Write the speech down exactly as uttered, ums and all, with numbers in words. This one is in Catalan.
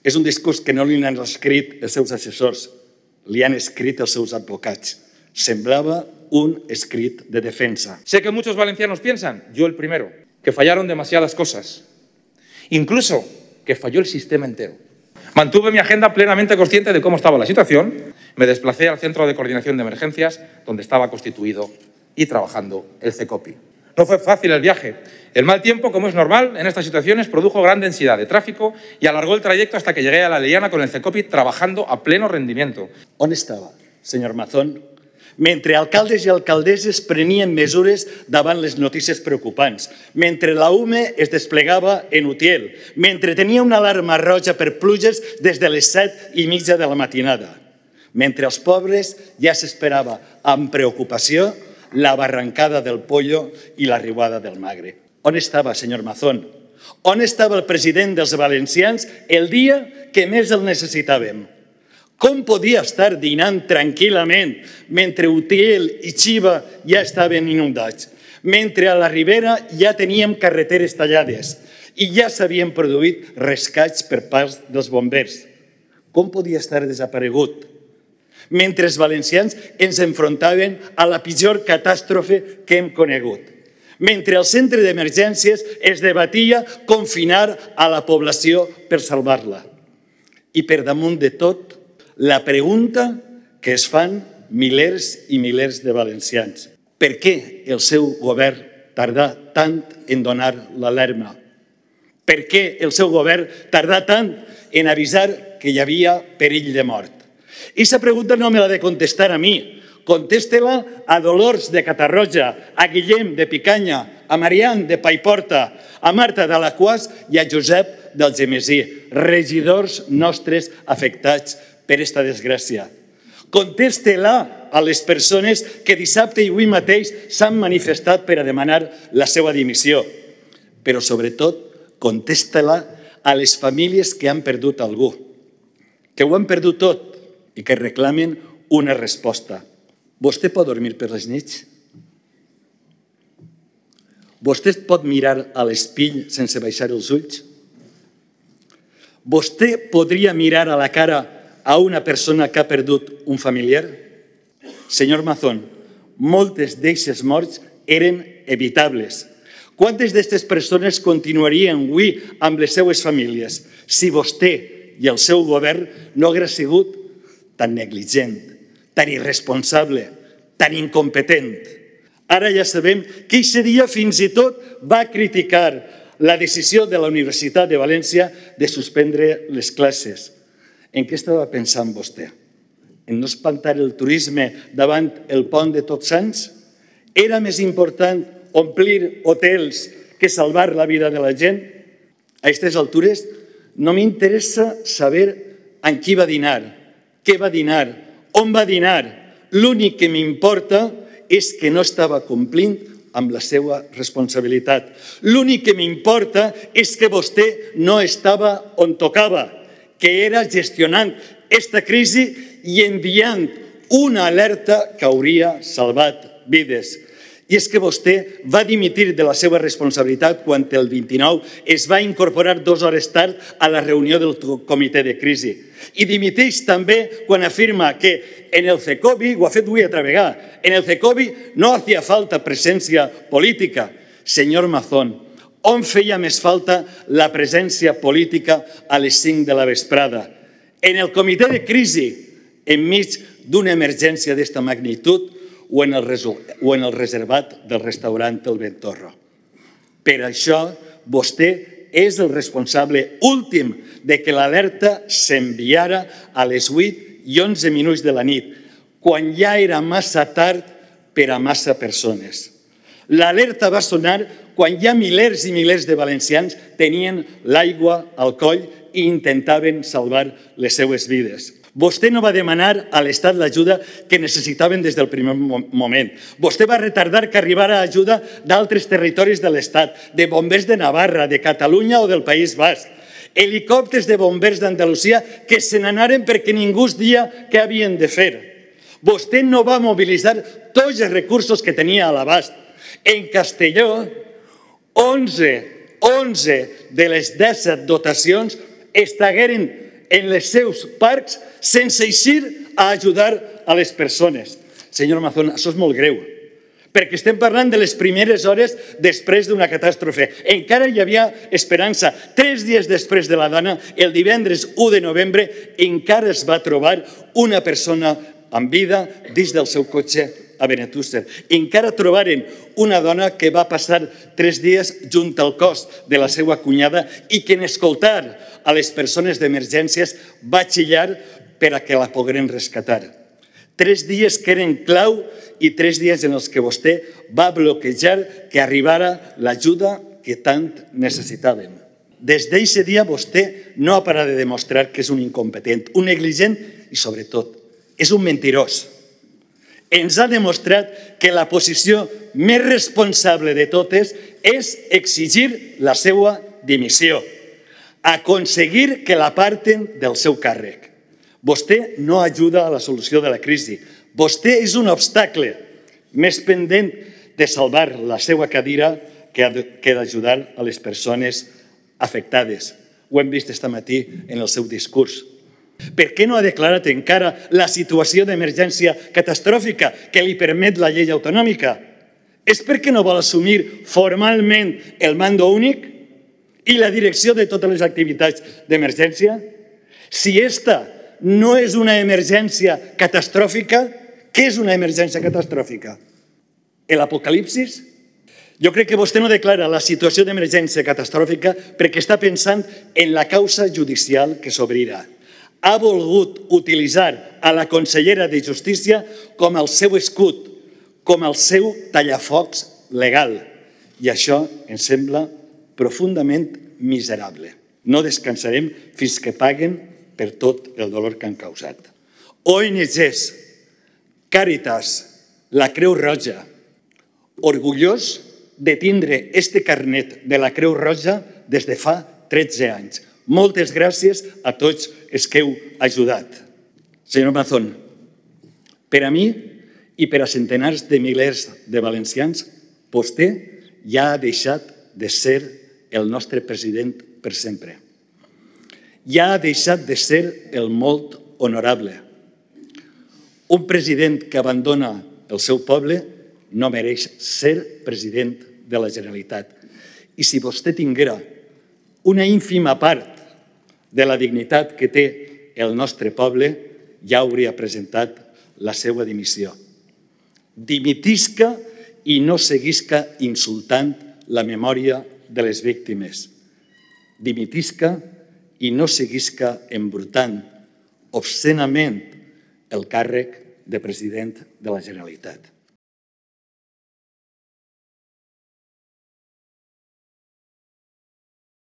És un discurs que no li han escrit els seus assessors, li han escrit els seus advocats. Semblaba un escrit de defensa. Sé que muchos valencianos piensan, yo el primero, que fallaron demasiadas cosas. Incluso que falló el sistema entero. Mantuve mi agenda plenamente consciente de cómo estaba la situación. Me desplacé al Centro de Coordinación de Emergencias, donde estaba constituido y trabajando el CECOPI. No fue fácil el viaje. El mal tiempo, como es normal en estas situaciones, produjo gran densidad de tráfico y alargó el trayecto hasta que llegué a la Eliana con el CECOPI trabajando a pleno rendimiento. On estava, senyor Mazón, mentre alcaldes i alcaldesses prenien mesures davant les notícies preocupants, mentre la U M E es desplegava en Utiel, mentre tenia una alarma roja per pluges des de les set i mitja de la matinada, mentre els pobres ja s'esperava amb preocupació la barrancada del pollo i l'arribada del magre. On estava, senyor Mazón? On estava el president dels valencians el dia que més el necessitàvem? Com podia estar dinant tranquil·lament mentre Utiel i Xiva ja estaven inundats, mentre a la Ribera ja teníem carreteres tallades i ja s'havien produït rescats per part dels bombers? Com podia estar desaparegut? Mentre els valencians ens enfrontaven a la pitjor catàstrofe que hem conegut. Mentre el centre d'emergències es debatia confinar a la població per salvar-la. I per damunt de tot, la pregunta que es fan milers i milers de valencians. Per què el seu govern tardà tant en donar l'alarma? Per què el seu govern tardà tant en avisar que hi havia perill de mort? I aquesta pregunta no me l'ha de contestar a mi. Conteste-la a Dolors de Catarroja, a Guillem de Picanya, a Marian de Paiporta, a Marta de Alaquàs i a Josep d'Algemesí, regidors nostres afectats per aquesta desgràcia. Conteste-la a les persones que dissabte i avui mateix s'han manifestat per a demanar la seva dimissió. Però, sobretot, contesta-la a les famílies que han perdut algú, que ho han perdut tot i que reclamen una resposta. Vostè pot dormir per les nits? Vostè pot mirar a l'espill sense baixar els ulls? Vostè podria mirar a la cara a una persona que ha perdut un familiar? Senyor Mazón, moltes d'eixes morts eren evitables. Quantes d'aquestes persones continuarien avui amb les seues famílies si vostè i el seu govern no hagués sigut tan negligent, tan irresponsable, tan incompetent? Ara ja sabem que aquest dia fins i tot va criticar la decisió de la Universitat de València de suspendre les classes. En què estava pensant vostè? En no espantar el turisme davant el pont de Tots Sants? Era més important omplir hotels que salvar la vida de la gent? A aquestes altures no m'interessa saber amb qui va dinar, què va dinar, on va dinar. L'únic que m'importa és que no estava complint amb la seva responsabilitat. L'únic que m'importa és que vostè no estava on tocava, que era gestionant aquesta crisi i enviant una alerta que hauria salvat vides. I és que vostè va dimitir de la seva responsabilitat quan el vint-i-nou es va incorporar dues hores tard a la reunió del comitè de crisi. I dimiteix també quan afirma que en el CECOPI, ho ha fet avui altra vegada, en el CECOPI no hacía falta presència política. Senyor Mazón, on feia més falta la presència política a les cinc de la vesprada? En el comitè de crisi, enmig d'una emergència d'esta magnitud, o en el reservat del restaurant El Ventorro. Per això, vostè és el responsable últim de que l'alerta s'enviara a les vuit i onze minuts de la nit, quan ja era massa tard per a massa persones. L'alerta va sonar quan ja milers i milers de valencians tenien l'aigua al coll i intentaven salvar les seues vides. Vostè no va demanar a l'Estat l'ajuda que necessitaven des del primer moment. Vostè va retardar que arribara ajuda d'altres territoris de l'Estat, de bombers de Navarra, de Catalunya o del País Basc. Helicòpters de bombers d'Andalusia que se n'anaren perquè ningú es dia què havien de fer. Vostè no va mobilitzar tots els recursos que tenia a l'abast. En Castelló, onze, onze de les disset dotacions estagueren en els seus parcs sense eixir a ajudar a les persones. Senyor Mazón, això és molt greu, perquè estem parlant de les primeres hores després d'una catàstrofe. Encara hi havia esperança. Tres dies després de la dona, el divendres u de novembre, encara es va trobar una persona amb vida dins del seu cotxe a Benetússer. Encara trobaren una dona que va passar tres dies junt al cos de la seva cunyada i que en escoltar a les persones d'emergències va xillar per a que la pogueren rescatar. Tres dies que eren clau i tres dies en els que vostè va bloquejar que arribara l'ajuda que tant necessitàvem. Des d'aquest dia vostè no ha parat de demostrar que és un incompetent, un negligent i, sobretot, és un mentirós. Ens ha demostrat que la posició més responsable de totes és exigir la seva dimissió, aconseguir que l'aparten del seu càrrec. Vostè no ajuda a la solució de la crisi. Vostè és un obstacle més pendent de salvar la seva cadira que d'ajudar a les persones afectades. Ho hem vist aquest matí en el seu discurs. Per què no ha declarat encara la situació d'emergència catastròfica que li permet la llei autonòmica? És perquè no vol assumir formalment el mando únic i la direcció de totes les activitats d'emergència? Si aquesta no és una emergència catastròfica, què és una emergència catastròfica? L'apocalipsis? Jo crec que vostè no declara la situació d'emergència catastròfica perquè està pensant en la causa judicial que s'obrirà. Ha volgut utilitzar a la consellera de Justícia com el seu escut, com el seu tallafocs legal. I això ens sembla profundament miserable. No descansarem fins que paguen per tot el dolor que han causat. O N Ges, Càritas, la Creu Roja, orgullós de tindre este carnet de la Creu Roja des de fa tretze anys. Moltes gràcies a tots els que heu ajudat. Senyor Mazón, per a mi i per a centenars de milers de valencians, vostè ja ha deixat de ser el nostre president per sempre. Ja ha deixat de ser el molt honorable. Un president que abandona el seu poble no mereix ser president de la Generalitat. I si vostè tinguera una ínfima part de la dignitat que té el nostre poble, ja hauria presentat la seva dimissió. Dimitisca i no seguisca insultant la memòria de les víctimes. Dimitisca i no seguisca embrutant obscenament el càrrec de president de la Generalitat.